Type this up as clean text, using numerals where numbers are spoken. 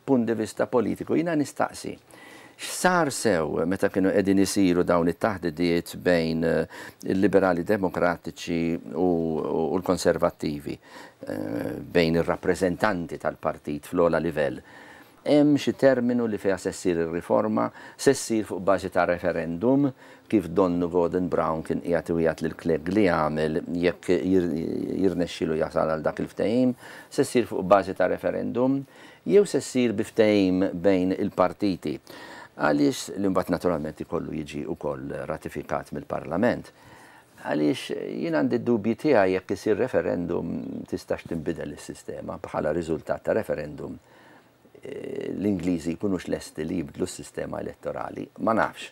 Mill-punt di vista politiku jiena nistaqsi, x'sar sew meta kienu qegħdin isiru dawn it-taħdidiet bejn il-Liberali Demokratiċi u l-Konservattivi, bejn ir-rappreżentanti tal-partit fl-ogħla livell? Hemm xi terminu li fiha se ssir ir-riforma? Se ssir fuq bażi ta' referendum, kif donnu Gordon Brown kien qiegħed iwiegħed lil Clegg li jagħmel jekk jirnexxielu jasal għal dak il-ftehim? Se ssir fuq bażi ta' referendum? Jew se ssir bi ftehim bejn il-partiti? Għaliex, li mbagħad naturalment ikollu jiġi wkoll ratifikat mill-Parlament. Għaliex jien għandi d-dubji tiegħi jekk isir referendum tistax tinbidel is-sistema bħala riżultat ta' referendum l-Ingliżi jkunux lesti li jibdlu s-sistema elettorali. Ma nafx.